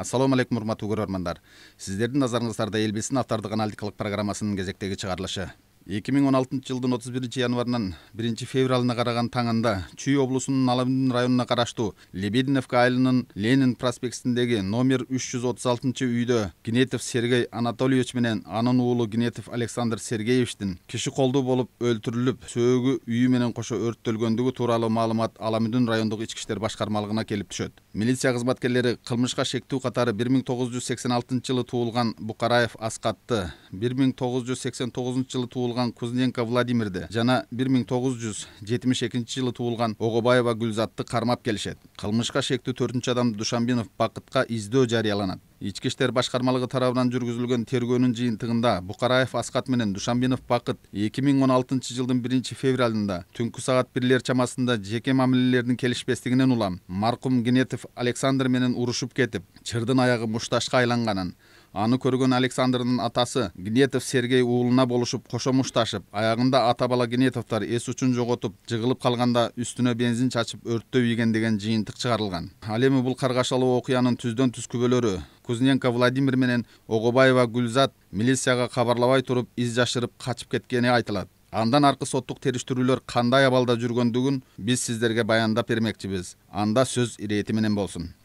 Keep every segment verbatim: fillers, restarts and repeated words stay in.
Ассаламу алейкум, урматтуу көрөрмандар. Сиздердин назарыңыздарда Эл билсин автордук аналитикалык программасынын кезектеги чыгарылышы. эки миң он алтынчы жылдын отуз биринчи январынан биринчи февралына караган таңында Чүй облусунун Аламүндүн районуна караштуу Лебединовка айылынын Ленин проспектиндеги номер үч жүз отуз алтынчы үйдө Гнетов Сергей Анатольевич менен анын уулу Гнетов Александр Сергеевичтин киши колдуу болуп өлтүрүлүп, сөөгү үйү менен кошо өрттөлгөндүгү тууралуу маалымат Аламүндүн райондук ички иштер башкармалыгына келип түшөт. Милиция кызматкерлери кылмышка шектүү катары бир миң тогуз жүз сексен алтынчы жылы туулган Букараев Аскатты, бир миң тогуз жүз сексен тогузунчу жылы туулган Кузненко Владимирди жана бир миң тогуз жүз жетимиш экинчи жылы туулган Огобаева Гүлзатты кармап келишет. Кылмышка шектүү төртүнчү адам Душанбинов Бакытка издөө жарыяланат. Ички иштер башкармалыгы тарабынан жүргүзүлгөн тергөөнүн жыйынтыгында Букараев Аскат менен Душанбинов Бакыт эки миң он алтынчы жылдын биринчи февралында түнкү саат бирлер чамасында жеке мамилелердин келишпестигинен улам маркум Гнетов Александр менен урушуп кетип, чырдын аягы мушташка айланганын, аны көргөн Александрдын атасы Гнетов Сергей уулуна болушуп кошо мушташып, аягында ата бала Гнетовдор эс учун жоготуп, жыгылып калганда үстүнө бензин чачып өрттөө ийген деген жыйынтык чыгарылган. Ал эми бул каргашалуу окуянын түздөн түз күбөлөрү Кузненко Владимир менен Огобаева Гүлзат милицияга кабарлабай туруп из жашырып качып кеткени айтылат. Андан аркы соттук териштирүүлөр кандай абалда жүргөндүгүн биз сиздерге баяндап бермекчибиз. Анда сөз ирети менен болсун.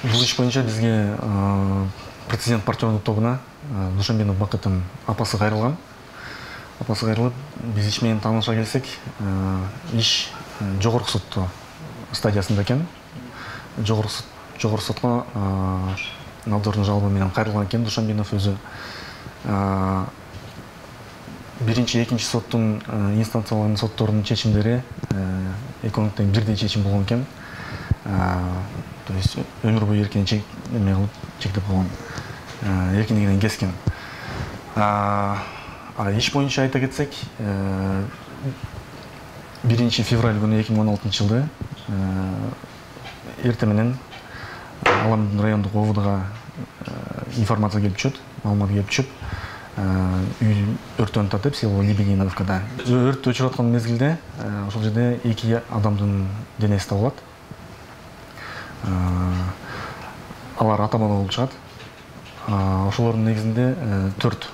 Бул иш боюнча бизге президент партиялык тобуна Душанбинов Бакыттын апасы кайрылган. Апасы кайрылып, биз иш менен тааныша келсек, иш жогорку сот стадиясында экен. Жогорку сот жогорку сотко надзордун жалобы менен кайрылган экен Душанбинов өзү. Биринчи, экинчи соттун инстанциялардын сотторунун чечимдери экөөнүн тең бирдей чечим болгон экен. То есть өмүр бою эркин чек эме кылып чектеп койгон, эркиндигинен кескен. А иш боюнча айта кетсек, биринчи февраль күнү эки миң он алтынчы жылы эртең менен Аламүндүн райондук ОВДга информация келип түшөт, маалымат келип түшүп, үй өрттөнүп атат деп, село Лебединовкада. Өрттү өчүрүп аткан мезгилде ошол жерде эки адамдын денеси табылат. Алар ата бала болуп чыгат. Ошолордун негизинде төрт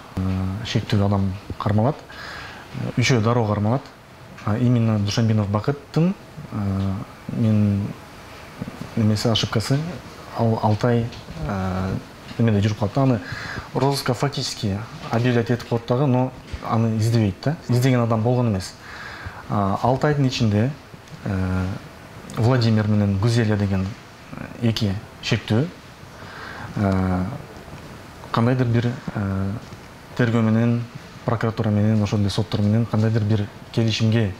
шектүү адам кармалат, үчөө дароо кармалат. Именно Душанбинов Бакыттын мен немеси ошибкасы алты ай эмеде жүрүп калат. Аны розыска фактически объявлять этип коет дагы, но аны издебейт да. Издеген адам болгон эмес. алты айдын ичинде Владимир менен Гүзелия деген эки шектүү кандайдыр бир тергөө менен, прокуратура менен, ошол эле соттор менен кандайдыр бир келишимге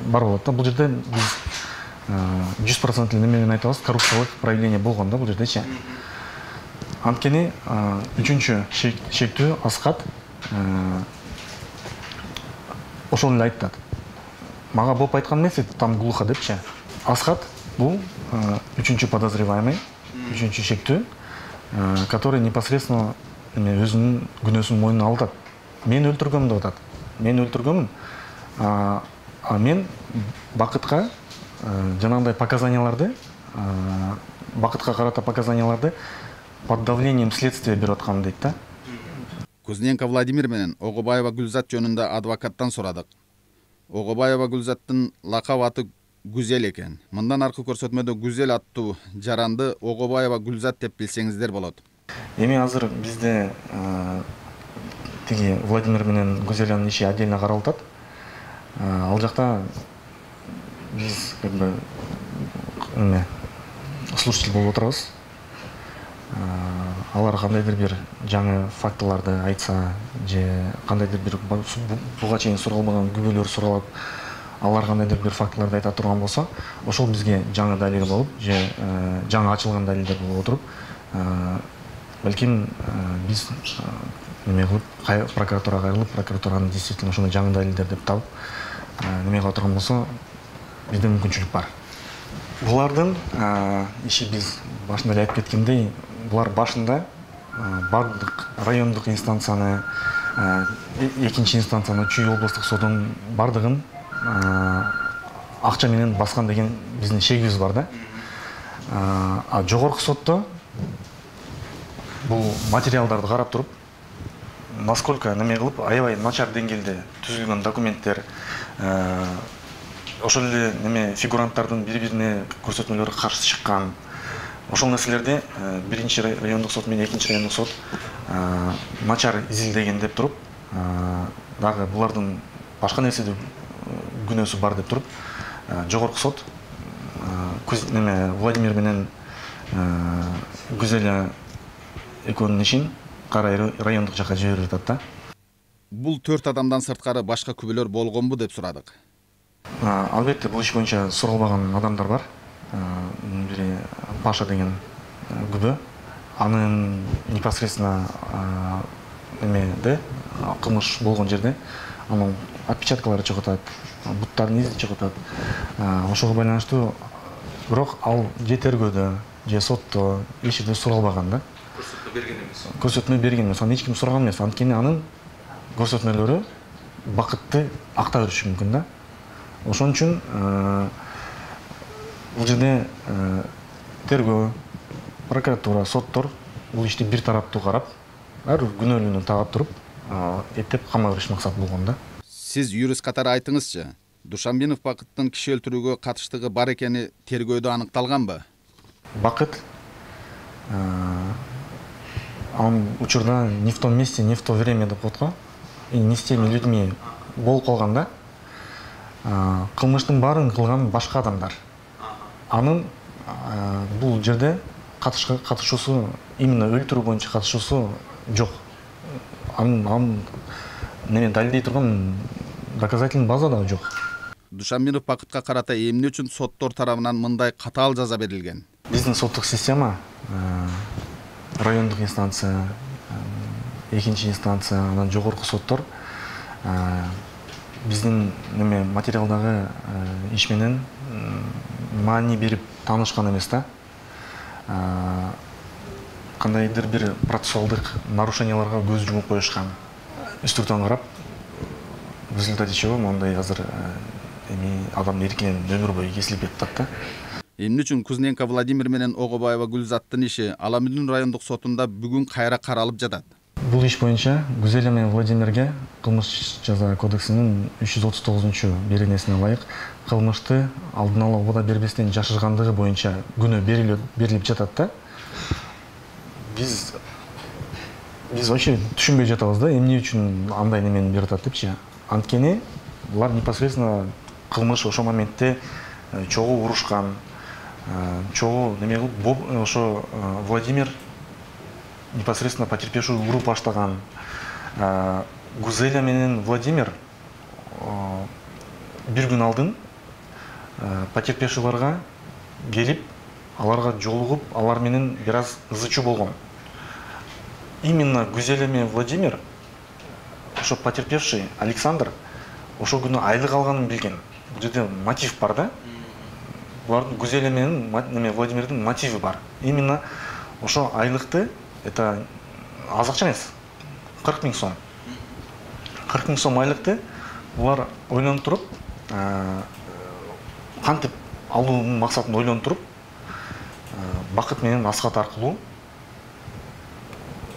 бар болот да. Бул жерде биз жүз процент неме менен айтабыз, коррупциялык проявление болгон да бул жердечи. Анткени үчүнчү шектүү Аскат ошол эле айтат. Мага болуп айткан эмес, там глухо депчи. Аскат бул үчүнчү подозреваемый, үчүнчү шектүү, который непосредственно өзүнүн күнөөсүн мойнуна алат. Мен өлтүргөм деп атат. Мен өлтүргөмүн. А мен Бакытка жанагындай показанияларды, Бакытка карата показанияларды под давлением следствия берип аткам дейт да. Кузненко Владимир менен Огобаева Гүлзат жөнүндө адвокаттан сурадык. Огобаева Гүлзаттын лакап аты Гүзел экен. Мындан аркы көрсөтмөдө Гүзел аттуу жаранды Огобаева Гүлзат деп билсеңиздер болот. Эми азыр бизде тиги Владимир менен Гүзелянын иши отдельно каралып атат. Ал жакта биз как бы эме слушатель болуп отурабыз. Алар кандайдыр бир жаңы фактыларды айтса, же кандайдыр бир буга чейин суралбаган күбөлөр суралып, алар кандайдыр бир фактыларды айта турган болсо, ошол бизге жаңы далил болуп, же жаңы ачылган далилдер болуп отуруп, балким биз неме кылып, прокуратурага кайрылып, прокуратуранын действительно ошондой жаңы далилдер деп табып, неме кыла турган болсо, бизде мүмкүнчүлүк бар. Булардын иши биз башында эле айтып кеткендей, булар башында бардык райондук инстанцияны, экинчи инстанцияны, Чүй облустук сотунун бардыгын акча менен баскан деген биздин шегибиз бар да. А жогорку сотто бул материалдарды карап туруп, насколько неме кылып, аябай начар деңгээлде түзүлгөн документтер, ошол эле неме фигуранттардын бири-бирине көрсөтмөлөрү каршы чыккан, ошол нерселерди биринчи райондук сот менен экинчи райондук сот начар изилдеген деп туруп, дагы булардын башка нерседе күнөөсү бар деп туруп, жогорку сот неме Владимир менен Гүзеля экөөнүн ишин Кара райондук жакка жиберип атат да. Бул төрт адамдан сырткары башка күбөлөр болгонбу деп сурадык. Албетте, бул иш боюнча суралбаган адамдар бар. Бири Паша деген күбө, анын непосредственно эмеде кылмыш болгон жерде анын отпечаткалары чыгып атат, буттардын изи чыгып атат. Ошого байланыштуу бирок ал же тергөөдө, же сотто эч жерде суралбаган да. Көрсөтмө берген эмес. Көрсөтмө берген эмес, аны эч ким сураган эмес. Анткени анын көрсөтмөлөрү бакытты акта бериши мүмкүн да. Ошон үчүн бул жерде тергөө, прокуратура, соттор бул ишти бир тараптуу карап, ар бир күнөөлүүнү таап туруп, эптеп камап бериш максат болгон да. Сиз юрист катары айтыңызчы, Душанбинов Бакыттын киши өлтүрүүгө катыштыгы бар экени тергөөдө аныкталганбы? Бакыт анын учурда не в том месте, не в то время деп коет го. И не с теми людьми болуп калган да. Кылмыштын баарын кылган башка адамдар. Анын бул жерде катышуусу, именно өлтүрүү боюнча катышуусу жок. Анын неме далилдей турган доказательный база да жок. Душанбинов Бакытка карата эмне үчүн соттор тарабынан мындай катаал жаза берилген? Биздин соттук система райондук инстанция, экинчи инстанция, анан жогорку соттор биздин неме материалдагы иш менен маани берип таанышкан эмес да. Кандайдыр бир процессуалдык нарушенияларга көз жумуп коюшкан. Үстүртөн карап, в результате чего мондай азыр эми адам эркинен өмүр бою кесилип кетип атат да. Эмне үчүн Кузненко Владимир менен Огобаева Гүлзаттын иши Аламүдүн райондук сотунда бүгүн кайра каралып жатат? Бул иш боюнча Гүзеля менен Владимирге кылмыш жаза кодексинин үч жүз отуз тогузунчу беренесине ылайык кылмышты алдын ала убада бербестен жашыргандыгы боюнча күнөө берилип жатат да. Биз биз вообще түшүнбөй жатабыз да, эмне үчүн андай немени берип атат депчи. Анткени булар непосредственно кылмыш ошол моментте чогуу урушкан, чогуу неме кылып, ошо Владимир непосредственно потерпевший уруп баштаган. Гүзеля менен Владимир бир күн алдын потерпевшийларга келип, аларга жолугуп, алар менен бир аз ызы-чуу болгон. Именно Гүзеля менен Владимир, ошо потерпевший Александр, ошол күнү айлык алганын билген. Бул жерде мотив бар да. Булардын Гүзеля менен неме Владимирдин мотиви бар. Именно ошо айлыкты, это аз акча эмес, кырк миң сом. кырк миң сом айлыкты булар ойлонуп туруп, кантип алуунун максатын ойлонуп туруп, Бакыт менен Аскат аркылуу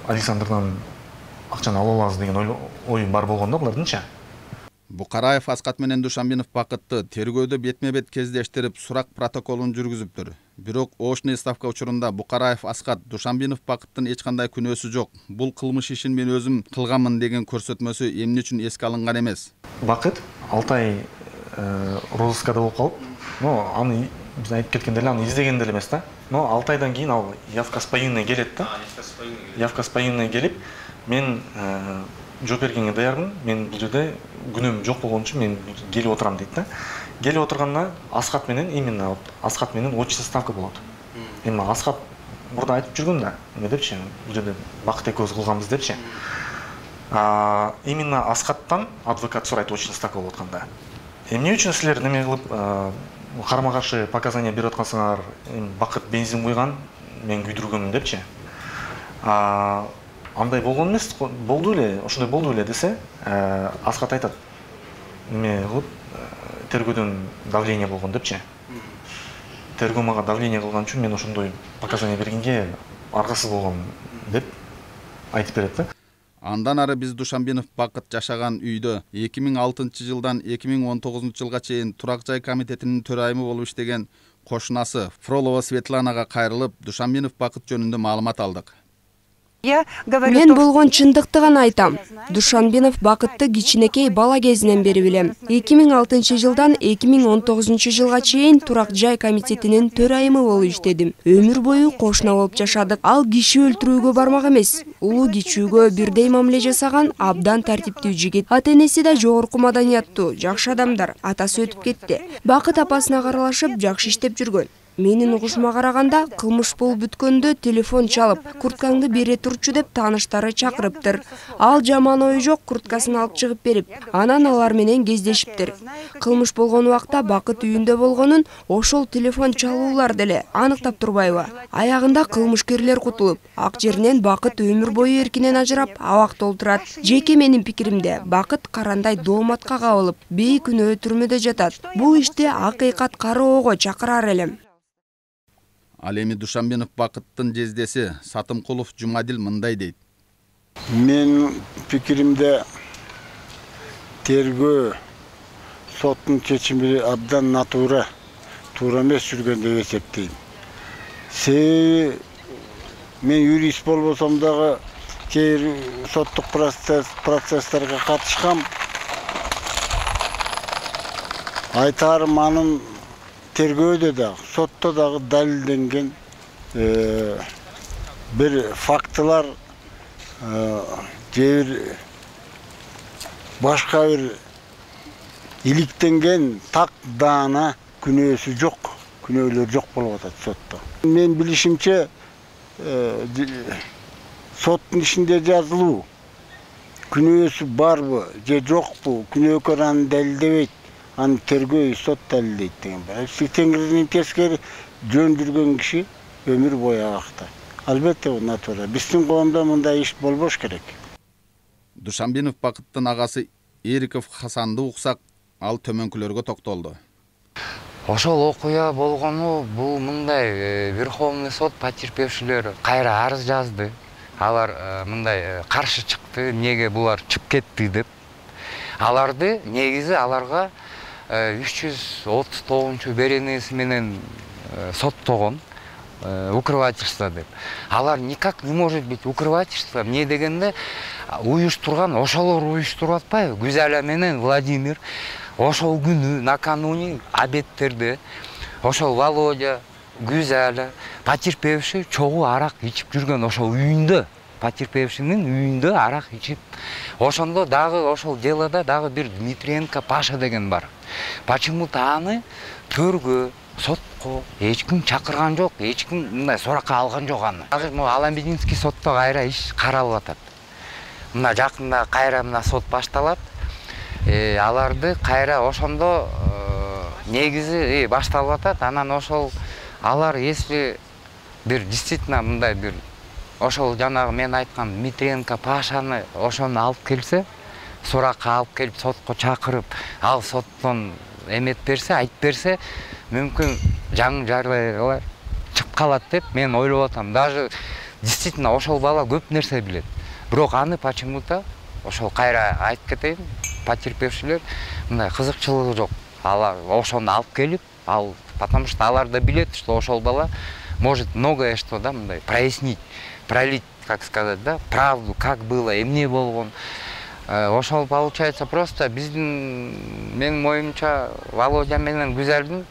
Александрдан акчаны ала алабыз деген ой бар болгон да булардынча. Букараев Аскат менен Душанбинов Бакытты тергөөдө бетме-бет кездештирип, сурак протоколун жүргүзүптүр. Бирок оочный ставка учурунда Букараев Аскат Душанбинов Бакыттын эч кандай күнөөсү жок. Бул кылмыш ишин мен өзүм кылганмын деген көрсөтмөсү эмне үчүн эске алынган эмес? Бакыт алты ай розыскада болуп калып, но аны биз айтып кеткендей эле аны издеген деле эмес да. Но алты айдан кийин ал явка с повинной келет да. Явка с повинной келип, мен жооп бергенге даярмын, мен бул жерде күнөөм жок болгон үчүн мен келип отурам дейт да. Келип отурганда Аскат менен, именно Аскат менен очный ставка болот. Эми Аскат мурда айтып жүргөн да, эме депчи, бул жерде Бакыт экөөбүз кылганбыз депчи. Именно Аскаттан адвокат сурайт очный ставка болуп атканда. Эмне үчүн силер неме кылып карама-каршы показания берип аткансыңар, Бакыт бензин куйган, мен күйдүргөнмүн депчи. Андай болгон эмес, болду эле, ошондой болду эле десе, Аскат айтат, эме кылып, тергөөдөн давление болгон депчи. Тергөө мага давление кылган үчүн мен ошондой показания бергенге аргасыз болгом деп айтып берет да. Андан ары биз Душанбинов Бакыт жашаган үйдө эки миң алтынчы жылдан эки миң он тогузунчу жылга чейин турак жай комитетинин төрайымы болуп иштеген кошунасы Фролова Светланага кайрылып, Душанбинов Бакыт жөнүндө маалымат алдык. Мен болгон чындыкты гана айтам. Душанбинов Бакытты кичинекей бала кезинен бери билем. эки миң алтынчы жылдан эки миң он тогузунчу жылга чейин турак жай комитетинин төрайымы болуп иштедим. Өмүр бою кошуна болуп жашадык. Ал киши өлтүрүүгө бармак эмес. Улуу кичүүгө бирдей мамиле жасаган абдан тартиптүү жигит. Ата-энеси да жогорку маданияттуу, жакшы адамдар. Атасы өтүп кетти. Бакыт апасына каралашып, жакшы иштеп жүргөн. Менин угушума караганда, кылмыш болуп бүткөндө телефон чалып, курткаңды бере турчу деп тааныштары чакырыптыр. Ал жаман ою жок курткасын алып чыгып берип, анан алар менен кездешиптир. Кылмыш болгон убакта Бакыт үйүндө болгонун ошол телефон чалуулар деле аныктап турбайбы? Аягында кылмышкерлер кутулуп, ак жеринен Бакыт өмүр бою эркинен ажырап, абакта олтурат. Жеке менин пикиримде, Бакыт карандай дооматка кабылып, бейкүнөө түрмөдө жатат. Бул ишти акыйкат кароого чакырар элем. Ал эми Душанбинов Бакыттын жездеси Сатымкулов Жумадил мындай дейт. Мен пикиримде тергөө соттун чечими абдан натура, туура эмес жүргөн деп эсептейм. Себеби мен юрист болбосом дагы кээ бир соттук процесстерге катышкам. Айтарым анын тергөөдө дагы, сотто дагы далилденген бир фактылар, же бир башка бир иликтенген так даана күнөөсү жок, күнөөлөр жок болуп атат сотто. Мен билишимче соттун ишинде жазылуу күнөөсү барбы же жокпу, күнөөкөр аны далилдебейт. Аны тергөө сот далилдейт деген бар. Теңирдин тескери жөн жүргөн киши өмүр бою абакта. Албетте бул натура. Биздин коомдо мындай иш болбош керек. Душанбинов Бакыттын агасы Эриков Хасанды уксак, ал төмөнкүлөргө токтолду. Ошол окуя болгону бул мындай Верховный сот потерпевшилер кайра арыз жазды. Алар мындай каршы чыкты, неге булар чыгып кетти деп. Аларды негизи аларга үч жүз отуз тогузунчу беренеси менен соттогон укрывательство деп. Алар никак не может быть укрывательство. Эмне дегенде уюштурган ошолор уюштуруп атпайбы? Гүзала менен Владимир ошол күнү накануне обедтерде ошол Володя, Гүзала, потерпевший чогуу арак ичип жүргөн ошол үйүндө. Потерпевшинин үйүндө арак ичип. Ошондо дагы ошол делода дагы бир Дмитриенко Паша деген бар. Почему-то аны төргө, сотко эч ким чакырган жок, эч ким мындай суракка алган жок аны. Азыр могу Аламбединский сотто кайра иш каралып атат. Мына жакында кайра мына сот башталат. Э, аларды кайра ошондо негизи башталып атат. Анан ошол алар если бир действительно мындай бир ошол жанагы мен айткан Дмитриенко Пашаны ошону алып келсе, суракка алып келип сотко чакырып, ал соттон эмет берсе, айтып берсе, мүмкүн жаңы жайлар чыгып калат деп мен ойлоп атам. Даже действительно ошол бала көп нерсе билет. Бирок аны почему-то ошол кайра айтып кетейин, потерпевшилер мындай кызыкчылыгы жок. Алар ошону алып келип, ал потому что алар да билет, что ошол бала может многое что да мындай прояснить, пролить, как сказать, да, правду, как было, эмне болгон. Ошол получается просто биздин менин оюмча Володя менен Гүзалдын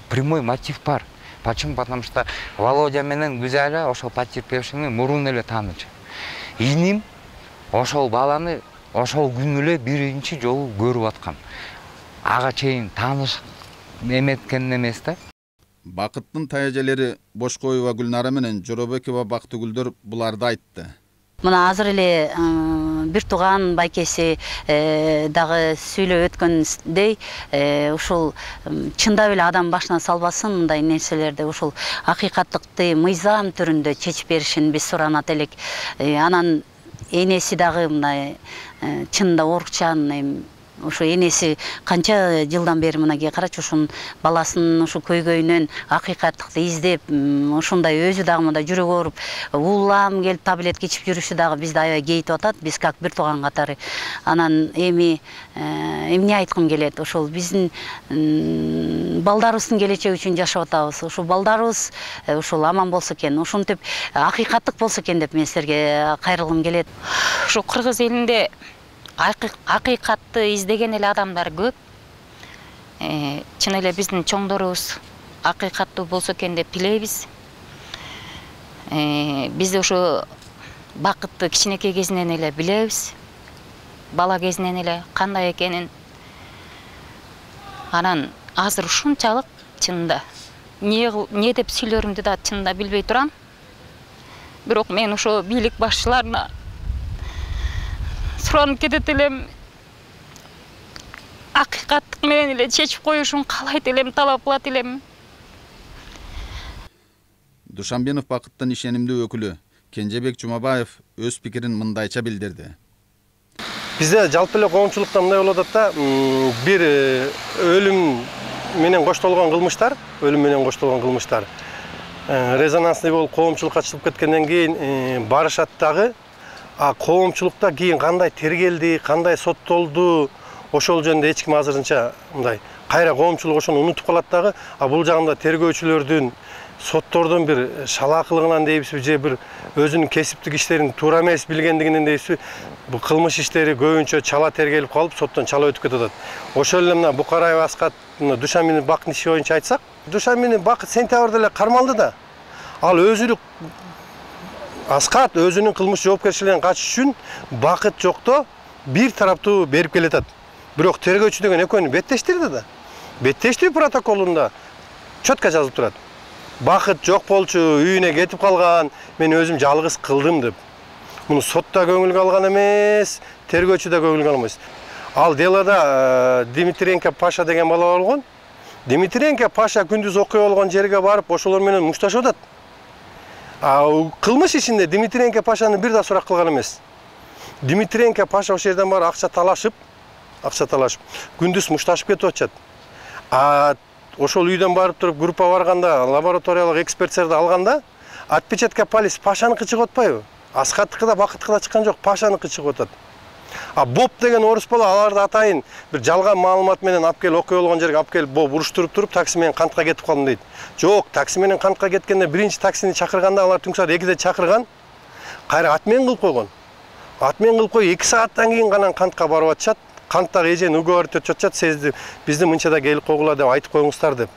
прямой мотив бар. Почему? Потому что Володя менен Гүзала ошол потерпевшини мурун эле таанычу. Иним ошол баланы ошол күнү эле биринчи жолу көрүп аткан. Ага чейин тааныш эметкен эмес да. Бакыттын таяжелери Бошкоева Гүлнара менен Жоробекова Бактыгүлдөр буларды айтты. Мына азыр эле бир тууган байкеси дагы сүйлөп өткөндөй, ушул чындап эле адам башына салбасын мындай нерселерди, ушул акыйкаттыкты мыйзам түрүндө чечип беришин биз суранат элек. Анан энеси дагы мындай чынында орукчан Ушу энеси канча жылдан бери мынакей карачы ушунун баласынын ушу көйгөйүнөн акыйкаттыкты издеп, ушундай өзү дагы мындай жүрөгү ооруп, уулам келип таблетка ичип жүрүшү дагы бизди аябай кейитип атат. Биз как бир тууган катары. Анан эми эмне айткым келет? Ошол биздин балдарыбыздын келечеги үчүн жашап атабыз. Ушул балдарыбыз ушул аман болсо экен, ушинтип акыйкаттык болсо экен деп мен силерге кайрылгым келет. Ушу кыргыз элинде акыйкатты издеген эле адамдар көп. Чын эле биздин чоңдорубуз акыйкаттуу болсо экен деп тилейбиз. Биз ушу бакытты кичинекей кезинен эле билебиз. Бала кезинен эле кандай экенин. Анан азыр ушунчалык чынында не деп сүйлөрүмдү да чынында билбей турам. Бирок мен ошо бийлик башчыларына суранып кетет элем. Акыйкаттык менен эле чечип коюшун каалайт элем, талап кылат элем. Душанбенов бакыттын ишенимдүү өкүлү Кенжебек Жумабаев өз пикирин мындайча билдирди. Бизде жалпы эле коомчулукта мындай болуп атат да, бир өлүм менен коштолгон кылмыштар, өлүм менен коштолгон кылмыштар резонансный болуп коомчулукка чыгып кеткенден кийин барышат дагы, а коомчулукта кийин кандай тергелди, кандай соттолду, ошол жөнүндө эч ким азырынча мындай кайра коомчулук ошону унутуп калат дагы. А бул жагында тергөөчүлөрдүн, соттордун бир шалаакылыгынан дейбизби, же бир өзүнүн кесиптик иштерин туура эмес билгендигинен дейбизби, бул кылмыш иштери көбүнчө чала тергелип калып, соттон чала өтүп кетип атат. Ошол эле мына Букараев Аскат Душанбенов Бакыттын иши боюнча айтсак, Душанбенов Бакыт сентябрда эле кармалды да. Ал өзүлүк Аскат өзүнүн кылмыш жоопкерчилигинен качыш үчүн Бакыт жокто бир тараптуу берип келатат. Бирок тергөөчү деген экөөнү беттештирди да. Беттештирүү протоколунда чөткө жазылып турат. Бакыт жок болчу, үйүнө кетип калган, мен өзүм жалгыз кылдым деп. Муну сотта көңүлгө алган эмес, тергөөчү да көңүлгө алмайт. Ал делода Дмитриенко Паша деген бала болгон. Дмитриенко Паша күндүз окуя болгон жерге барып, ошолор менен мушташып атат. А кылмыш ишинде Дмитриенко Пашаны бир да сурак кылган эмес. Дмитриенко Паша ошол жерден барып акча талашып, акча талашып, күндүз мушташып кетип атышат. А ошол үйдөн барып туруп группа барганда, лабораториялык эксперттерди алганда, отпечатка палец Пашаныкы чыгып атпайбы? Аскаттыкы да Бакыттыкы да чыккан жок, Пашаныкы чыгып атат. А Боб деген орус бала аларды атайын бир жалган маалымат менен алып келип окуя болгон жерге алып келип Боб уруштуруп туруп такси менен кантка кетип калдым дейт. Жок, такси менен кантка кеткенде биринчи таксини чакырганда алар түнкү саат экиде чакырган, кайра атмен кылып койгон. Атмен кылып коюп эки сааттан кийин гана кантка барып атышат. Канттагы эжени уговорить өтүп атышат, сезди бизди мынчада келип койгула деп айтып коюңуздар деп.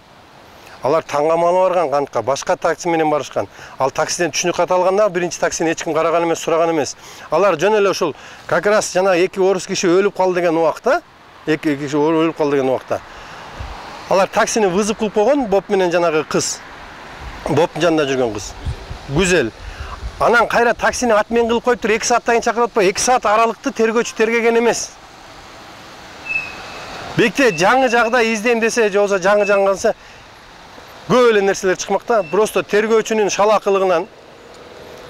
Алар таңгамалуу барган кантка, башка такси менен барышкан. Ал таксиден түшүнүк кат алганда биринчи таксини эч ким караган эмес, сураган эмес. Алар жөн эле ушул как раз жана эки орус киши өлүп калды деген убакта, эки киши өлүп калды деген убакта. Алар таксини вызов кылып койгон, Боб менен жанагы кыз. Бобдун жанында жүргөн кыз. Гүзел. Анан кайра таксини атмен кылып коюп туруп эки сааттан кийин чакырып атпайбы? эки саат аралыкты тергөөчү тергеген эмес. Бекте жаңы жагдай издейм десе, же болбосо жаңы жаңганса көп эле нерселер чыкмакта. Просто тергөөчүнүн шалаакылыгынан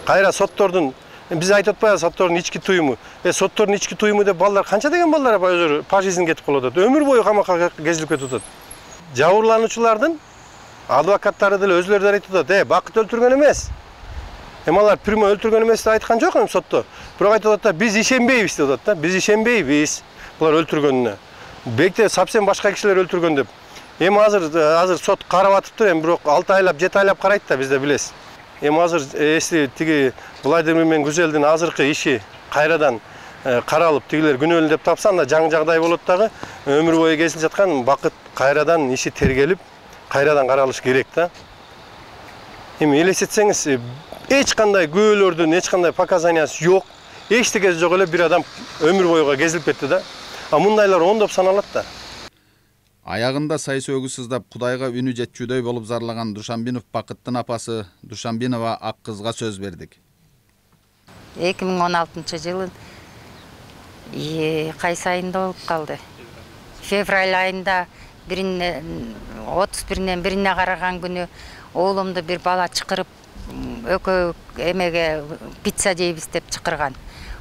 кайра соттордун, биз айтып атпайбыз соттордун ички туюму. Э соттордун ички туюму деп балдар канча деген балдар өзү пожизнь кетип калып атат. Өмүр бою камакка кезилип кетип атат. Жабырлануучулардын адвокаттары деле өзүлөрү да айтып атат, э Бакыт өлтүргөн эмес. Эми алар прямо өлтүргөн эмес деп айткан жок эми сотто. Бирок айтып атат да, биз ишенбейбиз деп атат да. Биз ишенбейбиз булар өлтүргөнүнө. Бекте совсем башка кишилер өлтүргөн деп. Эми азыр азыр сот карап атыптыр, эми бирок алты айлап, жети айлап карайт да, бизде билесиз. Эми азыр эси тиги Владимир менен Гүзелдин азыркы иши кайрадан каралып, тигилер күнөөлүү деп тапса, анда жаңы жагдай болот дагы, өмүр бою кезилип жаткан Бакыт кайрадан иши тергелип, кайрадан каралыш керек да. Эми элестетсеңиз, эч кандай күбөлөрдүн, эч кандай показаниясы жок, эчтекеси жок эле бир адам өмүр боюга кезилип кетти да. А мындайлар ондоп саналат да. Аягында сайыс өгү сыздап Кудайга үнү жетчүдөй болуп зарлаган Душанбенов Бакыттын апасы Душанбенова ак кызга сөз бердик. эки миң он алтынчы жылы кайсы айында болуп калды? Февраль айында отуз биринен бирине караган күнү оолумду бир бала чакырып, өкөө эмеге пицца жейбиз деп чакырган.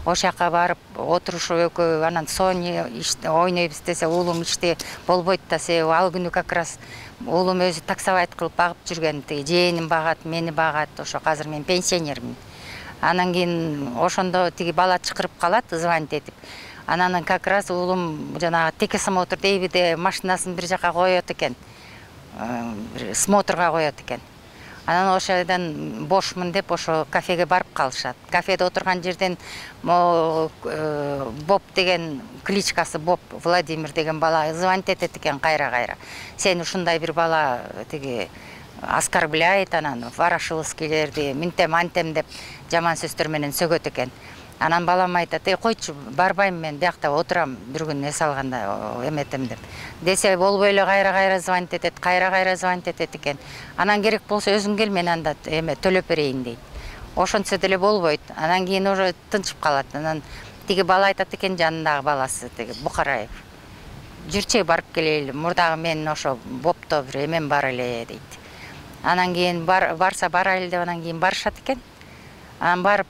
ошол жака барып отурушуп экөө анан Sony ойнойбуз десе уулум иште болбойт да, себеби ал күнү как раз уулум өзү таксовайт кылып багып жүргөн, тиги жээним багат, мени багат. Ошо азыр мен пенсионермин. Анан кийин ошондо тиги бала чакырып калат, звонить этип. Анан как раз уулум жанагы текесмотр дейбиде машинасын бир жака коёт экен. Смотрга коёт экен. Анан ошодан бошмун деп ошо кафеге барып калышат. Кафеде отурган жерден Боб деген кличкасы Боб Владимир деген бала звонить этет экен кайра-кайра. Сен ушундай бир бала тиги оскорбляет, анан Ворошиловскийлерди минтем антем деп жаман сөздөр менен сөгөт экен. Анан балам айтат: "Эй, койчу, барбайм мен, биякта отурам, бир күн эс алганда эметем" деп. Десе болбой эле кайра-кайра звонить этет, кайра-кайра звонить этет экен. Анан керек болсо өзүң кел, мен анда эме төлөп берейин дейт. Ошончо деле болбойт. Анан кийин уже тынчып калат. Анан тиги бала айтат экен, жанындагы баласы, тиги Бухараев: "Жүрчү, барып келели, мурдагы мен ошо Бопто бир эмем бар эле" дейт. Анан кийин барса барайлы деп анан кийин барышат экен. Анан барып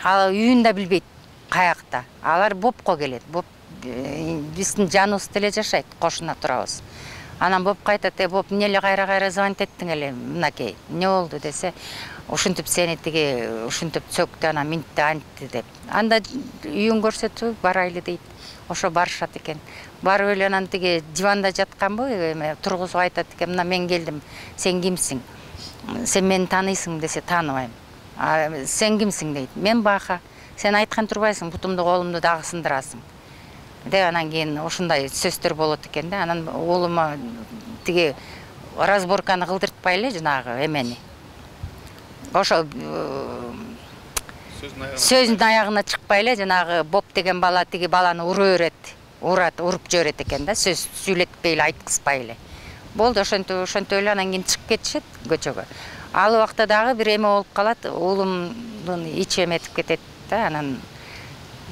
ал үйүн да билбейт каякта. Алар Бопко келет. Боп биздин жаныбыз деле жашайт, кошуна турабыз. Анан Боп кайтат: "Э, Боп, эмне эле кайра-кайра звонить эттиң эле, мынакей, эмне болду?" десе, "Ушинтип сени тиги ушинтип цөктү, анан минтти антты" деп. Анда үйүн көрсөтүп барайлы дейт. Ошо барышат экен. Барып эле анан тиги диванда жатканбы, эме тургузуп айтат экен: "Мына мен келдим, сен кимсиң? Сен мени тааныйсың?" десе, "Тааныбайм." "А сен кимсиң?" дейт. "Мен Баха. Сен айткан турбайсың, бутумду колумду дагы сындырасың" деп. Анан кийин ушундай сөздөр болот экен да. Анан уулума тиги разборканы кылдыртпай эле жанагы эмени. Ошо сөздүн аягына чыкпай эле жанагы Боб деген бала тиги баланы ура берет. Урат, уруп жиберет экен да, сөз сүйлөтпөй эле, айткызбай эле. Болду, ошентип ошентип эле анан кийин чыгып кетишет көчөгө. Ал убакта дагы бир эме болуп калат, уулумдун ичи эметип кетет да. Анан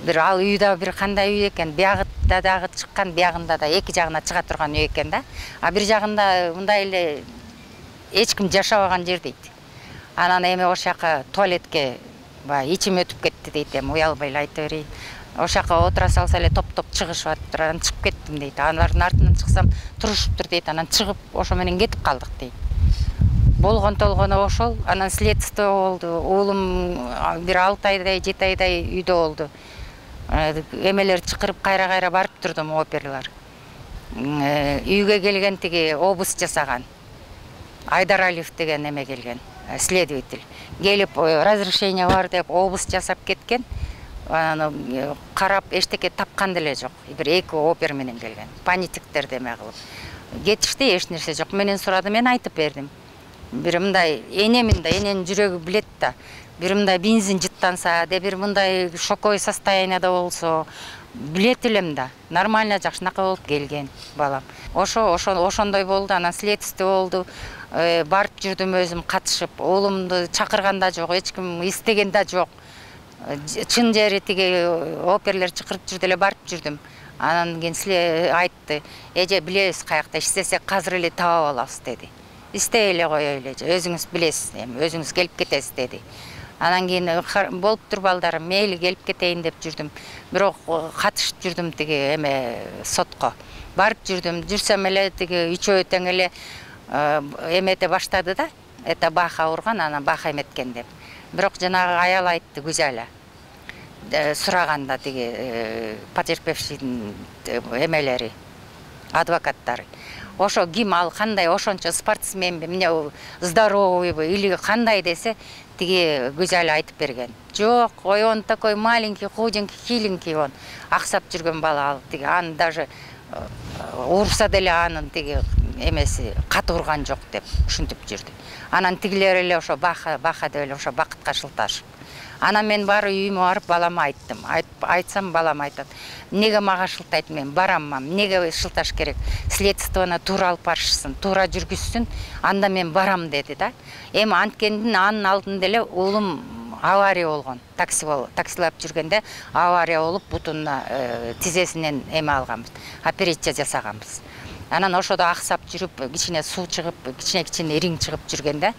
бир ал үй да бир кандай үй экен, биягында дагы чыккан, биягында да эки жагына чыга турган үй экен да. А бир жагында мындай эле эч ким жашабаган жер дейт. Анан эме ошол жака туалетке баягы ичим өтүп кетти дейт, эми уялбай эле айта берейин. Ошол жака отура салса эле топ-топ чыгышып атыптыр, анан чыгып кеттим дейт. Алардын артынан чыксам турушуптур дейт, анан чыгып ошо менен кетип калдык дейт. Болгон толгону ошол. Анан следствие болду. Уулум бир алты айдай, жети айдай үйдө болду. Эмелер чакырып кайра-кайра барып турдум, оперлар. Үйгө келген тиги обыск жасаган Айдаралиев деген эме келген, следователь. Келип разрешение бар деп обыск жасап кеткен. Анан карап эчтеке тапкан деле жок. Бир эки опер менен келген. Панитиктер деме кылып. Кетишти, эч нерсе жок. Менен сурады, мен айтып бердим. Бир мындай энемин да, эненин жүрөгү билет да. Бир мындай бензин жыттанса, де бир мындай шоковой состоянияда болсо, билет элем да. Нормально жакшынака болуп келген балам. Ошо ошо ошондой болду, анан следствие болду. Барып жүрдүм өзүм катышып. Уулумду чакырган да жок, эч ким истеген да жок. Чын жери тиги оперлер чакырып жүрдү эле, барып жүрдүм. Анан кийин силер айтты: "Эже, билебиз каякта иштесек азыр эле таап алабыз" деди. "Истей эле кой эле, өзүңүз билесиз, эми өзүңүз келип кетесиз" деди. Анан кийин болуптур балдарым, мейли келип кетейин деп жүрдүм. Бирок катышып жүрдүм тиги эме сотко. Барып жүрдүм, жүрсөм эле тиги үчөө тең эле эмете баштады да. Это Баха урган, анан Баха эметкен деп. Бирок жанагы аял айтты, Гүзала. Сураганда тиги потерпевшийдин эмелери, адвокаттары. Ошо ким, ал кандай, ошончо спортсменби, эмне здоровыйбы или кандай десе, тиги Гүзала айтып берген. Жок, ой, он такой маленький, худенький, хиленький он. Аксап жүргөн бала ал, тиги аны даже урса деле анын тиги эмеси кат урган жок деп ушинтип жүрдү. Анан тигилер эле ошо Баха, Баха деп эле ошо бакытка шылташып. Анан мен бары үйүмө барып балама айттым. Айтсам балам айтат: "Неге мага шылтайт, мен бараммам, неге шылташ керек? Следствияны туура алып барышсын, туура жүргүзсүн, анда мен барам" деди да. Эми анткендин анын алдында эле уулум авария болгон. Такси бол, таксилап жүргөндө авария болуп, бутуна тизесинен эме алганбыз, операция жасаганбыз. Анан ошодо аксап жүрүп, кичине суу чыгып, кичине-кичине ириң чыгып жүргөндө,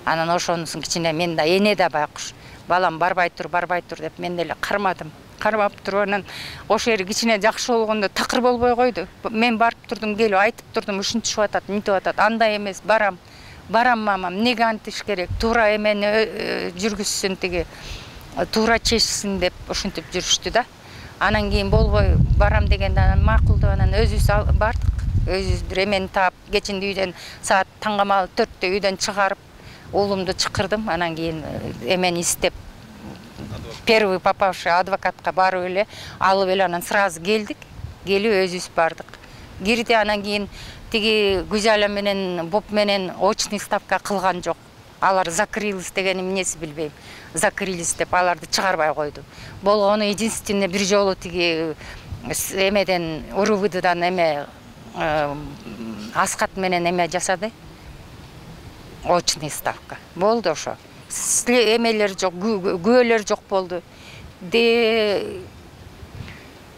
анан ошонусун кичине мен да эне да байкуш балам барбай тур барбай тур деп мен деле кармадым. Кармап туруп анан ошол жери кичине жакшы болгондо такыр болбой койду. Мен барып турдум, келип айтып турдум, ушинтип атат, мынтип атат. Андай эмес, барам. Барам мамам, эмнеге антиш керек? Туура эмени жүргүзсүн тиги. Туура чечсин деп ушинтип жүрүштү да. Анан кийин болбой барам дегенде анан макул деп анан өзүбүз бардык. Өзүбүз бир эмени таап, кечинде үйдөн саат таңгамал төрттө үйдөн чыгарып, уулумду чакырдым. Анан кийин эмени издеп первый попавший адвокатка барып эле, алып эле анан сразу келдик. Келип өзүбүз бардык. Кирди, анан кийин тиги Гүзала менен Боп менен очный ставка кылган жок. Алар закрылись деген эмнеси билбейм. Закрылись деп аларды чыгарбай койду. Болгону единственный бир жолу тиги эмеден УРВДдан эме Аскат менен эме жасады. Очный ставка. Болду ошо. Эмелер жок, күбөлөр жок болду. Де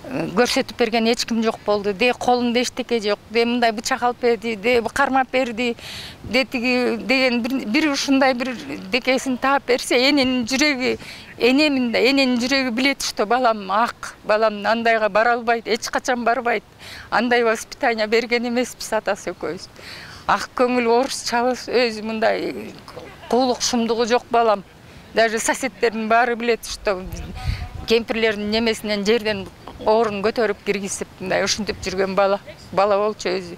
көрсөтүп берген эч ким жок болду. Де колунда эчтеке жок. Де мындай бычак алып берди, де кармап берди. Де тиги деген бир ушундай бир декесин таап берсе, эненин жүрөгү, энемин да, эненин жүрөгү билет, что балам ак, балам андайга бара албайт, эч качан барбайт. Андай воспитание берген эмеспиз атасы экөөбүз. Ак көңүл, орусчабыз, өзү мындай куулук шумдугу жок балам. Даже соседтердин баары билет, что кемпирлердин немесинен жерден орун көтөрүп киргизип, мындай ушинтип жүргөн бала. Бала болчу өзү.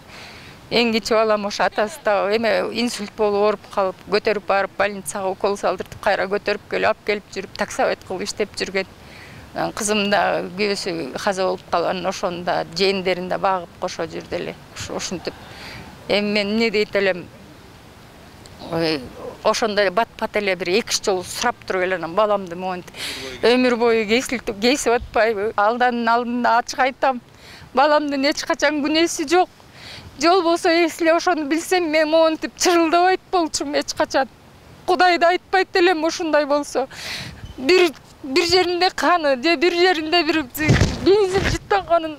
Эң кичи балам ошо атасы да эме инсульт болуп ооруп калып, көтөрүп барып больницага укол салдыртып, кайра көтөрүп келип, алып келип жүрүп, таксовать кылып иштеп жүргөн. Кызым да күйөөсү каза болуп калган, ошону да жээндерин да багып кошо жүрдү эле. Ушинтип. Эми мен эмне дейт элем? Ошондой бат-бат эле бир эки үч жолу сурап туруп эле анан баламды монтип өмүр бою кесилтип кесип атпайбы? Алданын алдында ачык айтам. Баламдын эч качан күнөөсү жок. Жол болсо эсли ошону билсем, мен монтип чырылдабайт болчумун эч качан. Кудайды айтпайт элем ушундай болсо. Бир бир жеринде каны, же бир жеринде бир бензин жыттанганын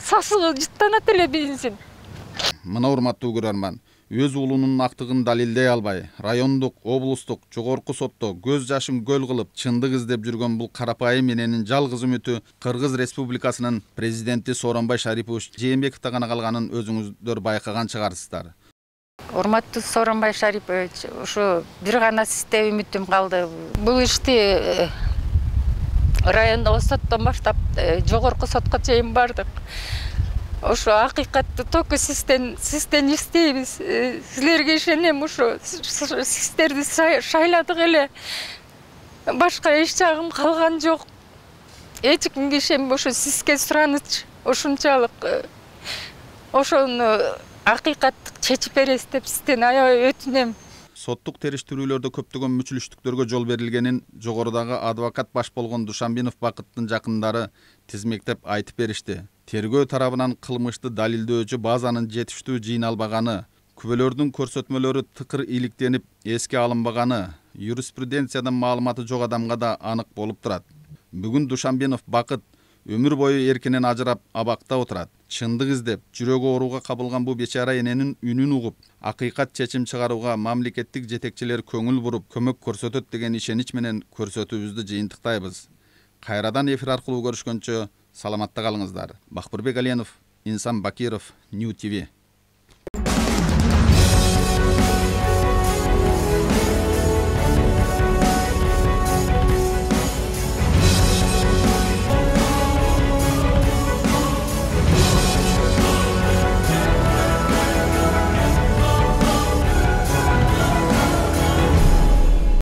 сасыгы жыттанат эле бензин. Мына урматтуу көрөрман, өз уулунун актыгын далилдей албай, райондук, облустук, жогорку сотто көз жашын көл кылып чындык издеп жүргөн бул карапайым эненин жалгыз үмүтү Кыргыз Республикасынын президенти Сооронбай Шарипович Жээнбековдо гана калганын өзүңүздөр байкаган чыгарсыздар. Урматтуу Сооронбай Шарипович, ушу бир гана сизде үмүтүм калды. Бул ишти райондогу соттон баштап жогорку сотко чейин бардык. Ошо акыйкатты только сизден сизден издейбиз. Силерге ишенем, ошо сиздерди шайладык эле. Башка эч жагым калган жок. Эч кимге ишенбей ошо сизге сураныч ушунчалык. Ошону акыйкаттык чечип бересиз деп сизден аябай өтүнөм. Соттук териштирүүлөрдө көптөгөн мүчүлүштүктөргө жол берилгенин жогорудагы адвокат баш болгон Душанбинов Бакыттын жакындары тизмектеп айтып беришти. Тергөө тарабынан кылмышты далилдөөчү базанын жетиштүү жыйналбаганы, күбөлөрдүн көрсөтмөлөрү тыкыр иликтенип эске алынбаганы, юриспруденциядан маалыматы жок адамга да анык болуп турат. Бүгүн Душанбинов Бакыт өмүр бою эркинен ажырап абакта отурат. Чындык издеп, жүрөгү ооруга кабылган бу бечара эненин үнүн угуп, акыйкат чечим чыгарууга мамлекеттик жетекчилер көңүл буруп, көмөк көрсөтөт деген ишенич менен көрсөтүүбүздү жыйынтыктайбыз. Кайрадан эфир аркылуу көрүшкөнчө саламатта калыңыздар. Бакбырбек Аленов, Инсан Бакиров, Нью ти ви.